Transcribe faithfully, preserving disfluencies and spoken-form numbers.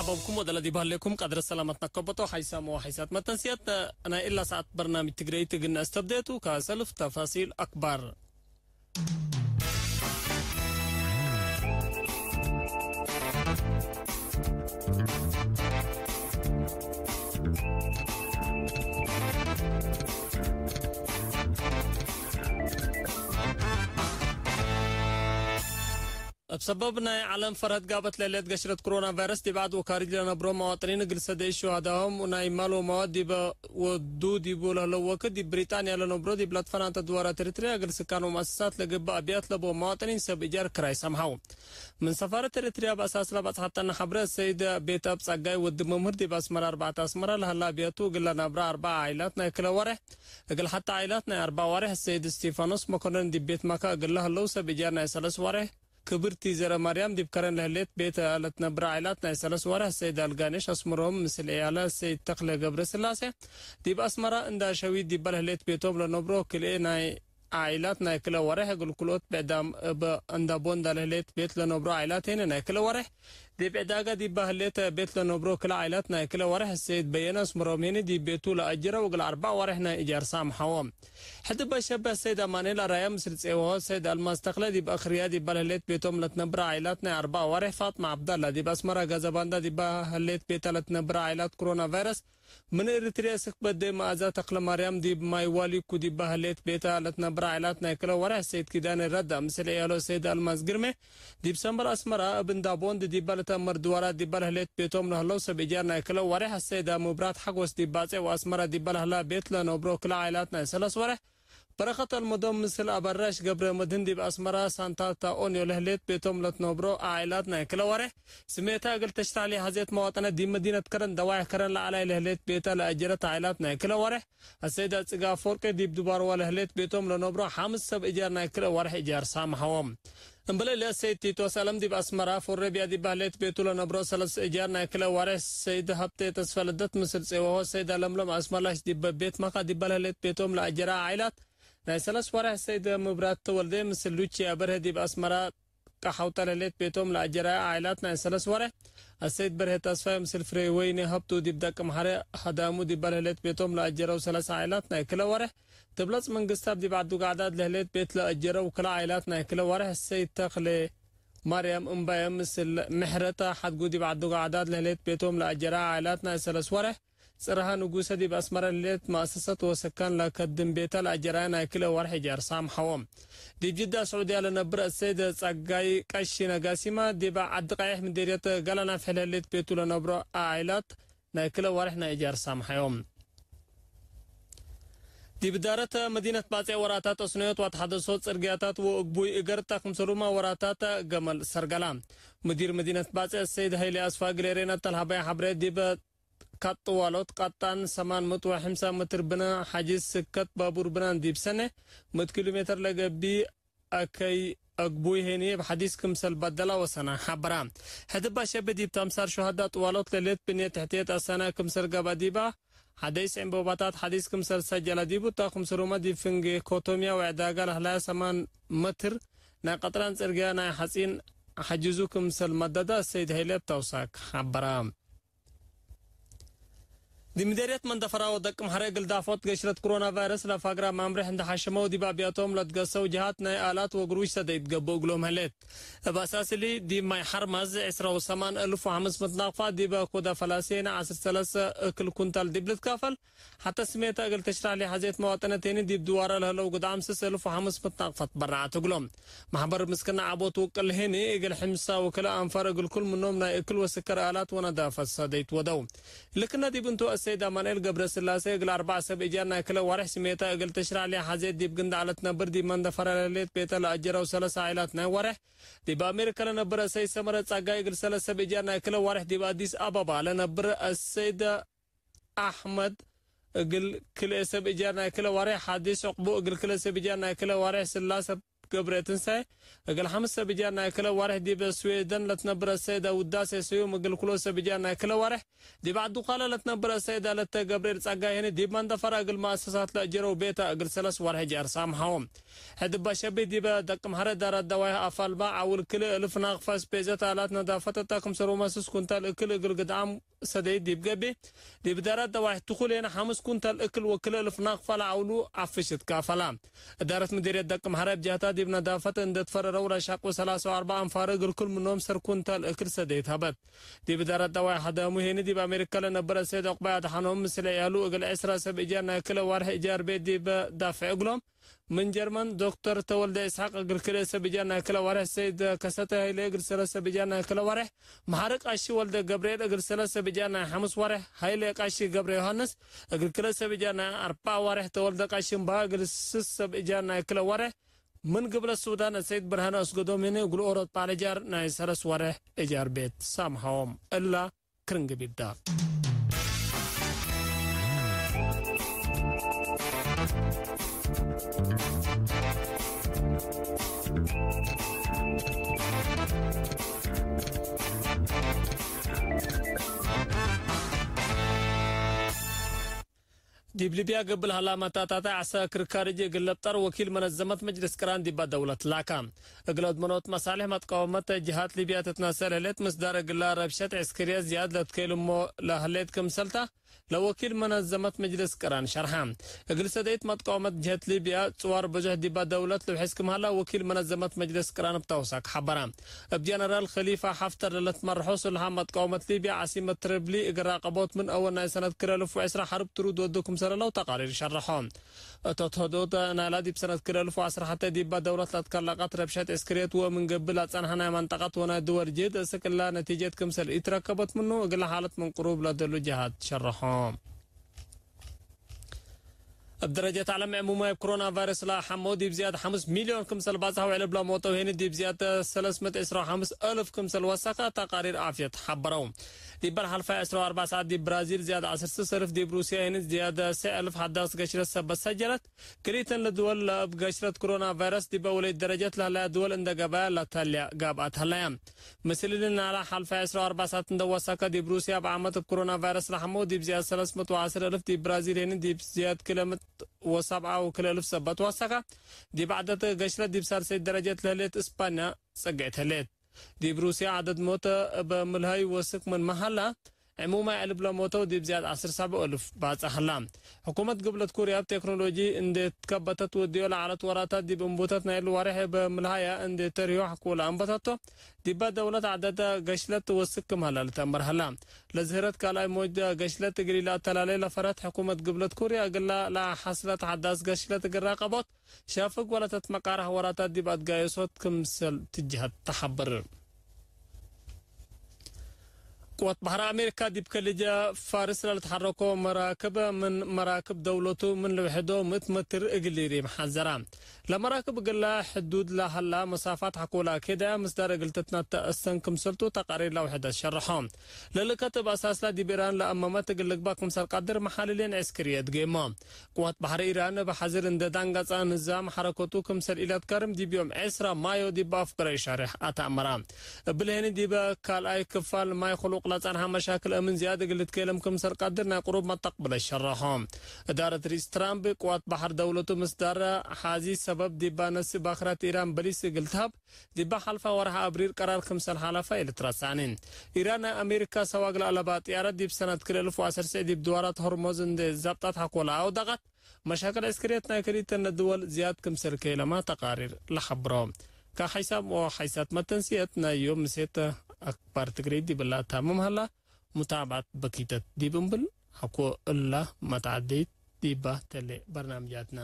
ኦብኩም ወደለ ዲብ ሀሌኩም ቀድረ ሰላመት ነከበቶ ሐይሳም ወሐይሳት መተንስያት ናይ እላ ሰዓት በርናምጅ ትግረይት እግል ነአስተብዴቱ። ከሰልፍ ተፋሲል አክባር። እብ ሰበብ ናይ ዐለም ፈርሀት ጋበት ለህሌት ገሽረት ክሮና ቫይረስ፣ ዲብ ዐድ ወካርጅ ለነብሮ መዋጥኒን እግል ሰደይ ሹሃዳሆም ናይ ማል ወመዋድ ዲበ ወዱ ዲቡ ለህለው ወክድ፣ ዲብ ብሪጣንያ ለነብሮ ዲብ ለትፈናተ ድዋራት ኤሪትርያ እግል ስካን ወመአሰሳት ለገብእ አብያት ለቦ መዋጥኒን ሰብ እጃር ክራይ ሰምሐው። ምን ሰፋረት ኤሪትርያ በአሳስ ለበጽሐተነ ሐብረ፣ ሰይድ ቤተአብ ጸጋይ ወዲ መምህር ዲብ አስመራ አርበዕተ አስመራ ለሀላ አብያቱ እግል ለነብረ አርበዓ ዓኢላት ናይ ክለ ወሬሕ፣ እግል ሐተ ዓኢላት ናይ አርበዕ ወሬሕ፣ ሰይድ እስቲፋኖስ መኮነን ዲብ ቤት ማካ እግል ለህለው ሰብ እጃር ናይ ሰለስ ወሬሕ፣ ክብርቲ ዘረ ማርያም ዲብ ከረን ለህሌት ቤተ ለትነብረ ዓኢላት ናይ ሰለስ ወሬሕ፣ ሰይድ አልጋኔሽ አስመሮም ምስል ዕያለ ሰይድ ተክለ ገብረ ስላሴ ዲብ አስመራ እንዳ ሸዊት ዲባ ለህሌት ቤቶም ለነብሮ ክልኤ ናይ ዓኢላት ናይ ክለ ወሬሕ፣ እግል ክልኦት ብዕዳም እብ እንዳ ቦንዳ ለህሌት ቤት ለነብሮ ዓኢላት ሄኒ ናይ ክለ ወሬሕ፣ ዲብ ዕዳጋ ዲባ ህሌት ቤት ለነብሮ ክለ ዓኢላት ናይ ክለ ወሬሕ፣ ሰይድ በየነ አስመሮም ሄኒ ዲብ ቤቱ ለአጅረው እግል አርበዕ ወሬሕ ናይ እጃር ሳምሐዎ። ሕድ በሸበ ሰይድ አማኑኤል አራያ ምስል ጼወሆ ሰይድ አልማዝ ተክለ ዲብ አክርያ ዲባ ለህሌት ቤቶም ለትነብረ ዓኢላት ናይ አርበዕ ወሬሕ፣ ፋጥማ ዐብዳላ ዲብ አስመራ ጋዛባንዳ ዲባ ህሌት ቤታ ለትነብረ ዓኢላት ክሮና ቫይረስ፣ ምን ኤሪትርያ ስክ በዴ መአዛ ተክለማርያም ዲብ ማይ ዋሊኩ ዲባ ህሌት ቤታ ለትነብረ ዓኢላት ናይ ክለ ወሬሕ፣ ሰይድ ኪዳነ ረዳ ምስል ዕያሎ ሰይድ አልማዝ ግርሜ ዲብ ሰምበር አስመራ እብ እንዳ ቦንድ ዲባ ለተአመር ድዋራት ዲባ ለህሌት ቤቶም ለህለው ሰብ እጃር ናይ ክለ ወሬሕ፣ አሰይዳ ሙብራት ሐጎስ ዲብ ባጼ ወአስመራ ዲባ ለህላ ቤት ለነብሮ ክለ ዓኢላት ናይ ሰለስ ወሬሕ፣ በረኸት አልመዶም ምስል አበራሽ ገብረ መድህን ዲብ አስመራ ሳንታ ታኦንዮ ለህሌት ቤቶም ለትነብሮ ዓኢላት ናይ ክለ ወሬሕ፣ ስሜታ እግል ተሽራሕ ለሐዜት መዋጠነት ዲብ መዲነት ከረን ደዋይሕ ከረን ለዐላይ ለህሌት ቤተ ለአጀረት ዓኢላት ናይ ክለ ወሬሕ፣ አሰይዳ ጽጋ አፈወርቂ ዲብ ዱባርዋ ለህሌት ቤቶም ለነብሮ ሐምስ ሰብ እጃር ናይ ክለ ወሬሕ እጃር ሳምሐዎም። እምበለ ለሰይድ ቲቶስ አለም ዲብ አስመራ፣ ፎረቢያ ዲባ ህሌት ቤቱ ለነብሮ ሰለስ እጃር ናይ ክለ ወሬሕ፣ ሰይድ ሀብቴ ተስፈ ልደት ምስል ጼወሆ፣ ሰይድ አለምሎም አስመላሽ ዲበ ቤት መካ ዲባ ለህሌት ቤቶም ለአጀራ ዓኢላት ናይ ሰለስ ወሬሕ፣ ሰይድ ምብራት ተወልደ ምስል ሉቺያ በርሀ ዲብ አስመራ ቀሐውጠ ለህሌት ቤቶም ለአጀራ ዓኢላት ናይ ሰለስ ወሬሕ፣ አሰይድ በርሀ ተስፋይ ምስል ፍሬወይኒ ሀብቱ ዲብ ደቅ ምሐሬ ሀዳሙ ዲባ ለህሌት ቤቶም ለአጀረው ሰለስ ዓኢላት ናይ ክለ ወሬሕ፣ ትብለጽ መንግስታብ ዲብ ዐዱ ጋዕዳድ ለህሌት ቤት ለአጀረው ክለ ዓኢላት ናይ ክለ ወሬሕ፣ ሰይድ ተክሌ ማርያም እምባየ ምስል ምሕረተ ሐድጉ ዲብ ዐዱ ጋዕዳድ ለህሌት ቤቶም ለአጀረ ዓኢላት ናይ ሰለስ ወሬሕ፣ ጽርሃ ንጉሰ ዲብ አስመረ ለህሌት መአሰሰት ወሰካን ለከድም ቤተ ለአጀራየ ናይ ክለ ወሬሕ እጃር ሳምሐዎም። ዲብ ጅዳ ስዑድያ ለነብር አሰይድ ጸጋይ ቀሺ ነጋሲማ፣ ዲብ ዐዲ ቀይሕ ምዴርየት ገላ ናፍሕ ለህሌት ቤቱ ለነብሮ ዓኢላት፣ ናይ ክለ ወሬሕ ናይ እጃር ሳምሐዮም። ዲብ እዳረት መዲነት ባጼ ወራታት፣ አስነዮት ወተሐደሶ ጽርግያታት ወእግቡይ እገር ተ ክምሰሉመ ወራታት ገመል ሰርገላ። ሙዲር መዲነት ባጼ ሰይድ ሀይሌ አስፋ እግል ኤሬና ተልሀባይ ሐብሬ፣ ዲብ ካጥ ጥዋሎት ቀጣን ሰማን ምእት ወሐምሳ ምትር ብነ ሐጂዝ ስከት ባቡር ብናን ዲብ ሰኔ ምእት ኪሎ ሜትር ለገብእ አከይ አግቡይ ሄኒ እብ ሐዲስ ክምሰል በደላ ወሰና ሐበራ። ሕድ እባ ሸቢ ዲብ ተምሳል ሹሀዳ ጥዋሎት ለሌት ብንየት ትሕትየት አሰና ክምሰል ገብአ ዲባ ሐደይስ ዕንበባታት ሐዲስ ክምሰል ሰጀለ ዲቡ ተ ክምሰሉመ ዲብ ፍንጌ ኮቶምያ ወዕዳጋ ለህላያ ሰማን መትር ናይ ቀጥራን ጽርግያ ናይ ሐጺን ሐጅዙ ክምሰል መደደ ሰይድ ሀይለ እብ ተውሳክ ሐበራ። ዲብ ምዴርየት መንደፈራ ወደቅ ምሐረ እግል ዳፎት ገሽረት ክሮና ቫይረስ ለፋግራ ማምሬሕ እንደ ሐሸመው ዲብ አብያቶም ለትገሰው ጀሃት ናይ አላት ወግሩሽ ሰደይት ገብእ እግሎም ህሌት። እብ አሳስ እሊ ዲብ ማይ ሐርማዝ ዕስራ ወሰማን እልፍ ወሐምስ ምእት ናቅፋ ዲበ ኮደ ፈላሴነ ዐስር ሰለሰ እክል ኩንታል ዲብ ልትካፈል ሐተ ስሜተ እግል ትሽራሕ ለሐዜት መዋጠነት ሄኒ ዲብ ድዋረ ለህለው ግድዓም ስስ እልፍ ወሐምስ ምእት ናቅፋት በርዐት እግሎም። ማሕበር ምስክና ዐቦት ውቅል ሄኒ እግል ሕምሳ ወክልኤ አንፋር እግል ኩል ምኖም ናይ እክል ወስከር አላት ወነዳፈት ሰደይት ወደው። ልክነ ዲብ እንቱ አሰይድ አማኑኤል ገብረስላሴ እግል አርበዕ ሰብ እጃር ናይ ክለ ወሬሕ ስሜተ እግል ትሽራሕ ለሐዜት ዲብ ግንዳዕ ለትነብር ዲብ መንደፈራ ለህሌት ቤተ ለአጀረው ሰለስ ዓኢላት ናይ ወሬሕ፣ ዲብ አሜሪከ ለነብር አሰይድ ሰመረ ጸጋይ እግል ሰለስ ሰብ እጃር ናይ ክለ ወሬሕ ዲብ አዲስ አበባ ለነብር አሰይድ አሕመድ እግል ክልኤ ሰብ እጃር ናይ ክለ ወሬሕ፣ ሐዲስ ዕቅቡ እግል ክልኤ ሰብ እጃር ናይ ክለ ወሬሕ፣ ስላሰ ገብረትንሳኤ፣ እግል ሐምስ ሰብ እጃር ናይ ክለ ዋርሕ ዲብ ስዌደን ለትነብረ ሰይደ ውዳሴ ስዩም፣ እግል ክሎ ሰብ እጃር ናይ ክለ ዋርሕ ዲብ ዐዱ ካለ ለትነብረ ሰይደ ለተ ገብርኤል ጸጋይ ህኒ፣ ዲብ መንደፈራ እግል መአሰሳት ለአጀረው ቤተ እግል ሰለስ ዋርሕ እጃር ሳምሐዎም። ሕድ እበ ሸቢ ዲበ ደቅምሐረ ዳራት ደዋይሕ አፋልባ ዐውል ክልኤ እልፍ ናቅፋ ስፔዘት አላት ነዳፈት እተ ክምሰል ወመስስ ኩንታል እክል እግል ግድዓም ሰደይት ዲብ ገብእ፣ ዲብ እዳራት ደዋይሕ ትኩሌን ሐምስ ኩንታል እክል ወክልኤ እልፍ ናቅፋ ለዐውሉ ዐፍሽ ትካፈላ። እዳረት ምዲርየት ደቅምሐረ እብ ጀህታ ዲብ ነዳፈት እንዴ ትፈረረው ለሻቅቡ ሰላሳ ወአርበዕ አንፋር እግል ክል ምኖም ሰር ኩንታል እክል ሰደይት ሀበት። ዲብ እዳረት ደዋይሕ ሀዳሙ ሄኒ ዲብ አሜሪካ ለነብረ ሰይድ ዑቅባይ አድሓኖም ምስል ዕያሉ እግል ዕስራ ሰብ እጃር ናይ ክለ ዋርሕ እጃር ቤት ዲብ ዳፍዕ እግሎም፣ ምን ጀርመን ዶክተር ተወልደ ኢስሐቅ እግል ክልኤ ሰብ እጃር ናይ ክለ ዋርሕ፣ ሰይድ ከሰተ ሀይለ እግል ሰለስ ሰብ እጃር ናይ ክለ ዋርሕ፣ መሐሪ ቃሺ ወልደ ገብርኤል እግል ሰለስ ሰብ እጃር ናይ ሐምስ ዋርሕ፣ ሀይለ ቃሺ ገብረ ዮሐንስ እግል ክልኤ ሰብ እጃር ናይ አርበዕ ዋርሕ፣ ተወልደ ቃሺ እምበሀ እግል ስስ ሰብ እጃር ናይ ክለ ዋርሕ፣ ምን ግብለት ሱዳን ሰይድ ብርሃነ አስገዶም ህኒ እግል ኦሮት በዐል እጃር ናይ ሰለስ ዋርሕ እጃር ቤት ሳምሐዎም። እላ ክርን ግቢዳ። ዲብ ሊብያ ገብእ ለሀላ መታታተ ዐስከር ካርጅ እግል ለብጠር ወኪል መነዘመት መጅልስ ቅራን ዲባ ደውለት ላካ። እግል አድመኖት መሳልሕ መትቃወመት ጀሃት ሊብያ ትትናሰል ህሌት፣ ምስዳር እግላ ረብሸት ዕስክርየት ዝያድ ለትከይልሞ ለህሌት ክምሰልታ፣ ለወኪል መነዘመት መጅልስ ቅራን ሸርሐ። እግል ሰደይት መትቃወመት ጀህት ሊብያ ጽዋር ብዙሕ ዲባ ደውለት ልውሕዝ ክም ሀላ ወኪል መነዘመት መጅልስ ቅራን እብ ተውሳክ ሐበረ። እብ ጀነራል ከሊፋ ሐፍተር ለልትመርሖ ስልሐ መትቃወመት ሊብያ ዓሲመት ትሪብሊ እግል ራቀቦት ምን አወል ናይ ሰነት ክልኤ እልፍ ወዕስራ ሐርብ ትሩድ ወዱ ክምሰለ ለው ተቃሪር ሸርሖ። እቶት ህዶት ናይላ ዲብ ሰነት ክልኤ እልፍ ወዐስራ ሐቴ ዲባ ደውለት ለትከለቀት ረብሸት ዕስክርየት ወምን ገብእ ለጸንሐ ናይ መንጠቀት ወናይ ድወል ጅህድ እስክ እላ ነቲጀት ክምሰል ኢትረከበት ምኑ፣ እግለ ሓለት ምን ቅሩብ ለደሉ ጀሃት ሸርሖ። እብ ደረጀት ዐለም ዕሙማይ እብ ኮሮና ቫይረስ ለሐመው ዲብ ዝያድ ሐምስ ሚልዮን ክምሰል ባጽሐው፣ ዕልብ ለሞተው ሄኒ ዲብ ዝያድ ሰለስ ምእት ዕስራ ወሐምስ እልፍ ክምሰል ወሰከ ተቃሪር ዓፍየት ሐበረው። ዲበ ለሐልፋይ ዕስራ ወአርበዕ ሰዓት ዲብ ብራዚል ዝያድ ዐስር ስስ እልፍ፣ ዲብ ሩስያ ሄኒ ዝያድ ሰዕ እልፍ ሐዳስ ገሽረት ሰበት ሰጀለት። ክልኢተን ለድወል ለእብ ገሽረት ክሮና ቫይረስ ዲበ ወለይት ደረጀት ለህለያ ድወል እንደ ገበያ ለተልያ ጋብአት ሀለያ። ምስል እሊ ናላ ሐልፈ ዕስራ ወአርበዕ ሳዕት እንደ ወሰከ ዲብ ሩስያ እብ ዓመት እብ ክሮና ቫይረስ ለሐመው ዲብ ዝያድ ሰለስ ምእት ወዐስር እልፍ፣ ዲብ ብራዚል ሄኒ ዲብ ዝያድ ክለ ምእት ወሰብዓ ወክለ እልፍ ሰበት ወሰከ። ዲብ ዐደት ገሽረት ዲብ ሳልሰይት ደረጀት ለህሌት እስፓንያ ጸግዕት ህሌት። ዲብ ሩስያ ዐደድ ሞተ እበ ምልሀይ ወስክ ምንመ ሀላ፣ ዕሙማይ ዕልብ ለሞተው ዲብ ዝያድ ዐስር ሰብዑ እልፍ ባጽሕ ሀላ። ሕኩመት ግብለት ኩርያ እብ ቴክኖሎጂ እንዴ ትከበተት ወድዮ ለዐለት ወራታት ዲብ እንቡተት ናይሉ ዋሬሕ እበ ምልሀያ እንዴ ተርህዮ ሐቆለ አንበተቶ፣ ዲበ ደውለት ዐደደ ገሽለት ወስክ ክም ሀላ ልትአመር ሀላ። ለዝህረት ካልኣይ ሞጅ ገሽለት እግል ኢለአተላሌ ለፈረት ሕኩመት ግብለት ኩርያ እግላ ለሐስለት ሐዳስ ገሽለት እግል ራቀቦት፣ ሻፍግ ወለተትመቃረህ ወራታት ዲብ አትጋየሶት ክምሰል ትጅሀት ተሐብር። ቅወት በሐር አሜሪካ ዲብ ከሊጀ ፋርስ ለልትሐረኮ መራክብ ምን መራክብ ደውለቱ ምን ልውሕዶ ምእት መትር እግል ሊሪም ሐዘራ። ለመራክብ እግላ ሕዱድ ለሀላ መሳፋት ሐቆላ ኬዳያ ምስዳር እግል ትትናተ እሰን ክምሰልቱ ተቃሪር ለውሕደት ሸርሖ። ለልከት እብ አሳስላ ዲብ ኢራን ለአመመት እግል ልግባእ ክምሰል ቀድር መሓልሌን ዕስክርየት ገይሞ። ቅዋት በሐር ኢራን እብ ሐዝር እንዴ ዳንጋጻ፣ ንዛም ሐረከቱ ክምሰል ኢለትከርም ዲብ ዮም ዕስራ ማዮ ዲብ አፍገረ ኢሻርሕ አተአመራ። እብልሄኒ ዲበ ካልኣይ ክፋል ማይ ክሉቅ ለጸንሐ መሻክል እምን ዝያድ እግል ልትኬለም ክምሰል ቀድር ናይ ቅሩብ መተቅብለ ሸረሖ። እዳረት ርኢስ ትራምፕ ቅዋት በሐር ደውለቱ ምስዳረ ሐዚ ሰበብ ዲባ ነሲ ባክራት ኢራን በሊስ እግል ተሀብ ዲበ ሐልፋ ወርሐ አብሪር ቀራር ክምሰል ሐለፈ ኢልትረሳኒ። ኢራን ናይ አሜሪካ ሰዋግ ለአለባ ጥያረት ዲብ ሰነት ክልኤ እልፍ ወዐሰርተ ዲብ ድዋራት ሆርሞዝ እንዴ ዛብጣት ሐቆለ አውደቀት፣ መሻክል ዕስክርየት ናይ ክልኢተነ ድወል ዝያድ ክምሰል ከይለማ ተቃሪር ለሐብሮ። ከሐይሳም ወሐይሳት መተንስየት ናይ ዮም ምሴት አክባር ትግሬ ዲብላ ታምም ሀላ። ሙታብዐት በኪተት ዲብ እምብል ሐቆ እላ መትዓደይት ዲባ ተሌ በርናምጃትና።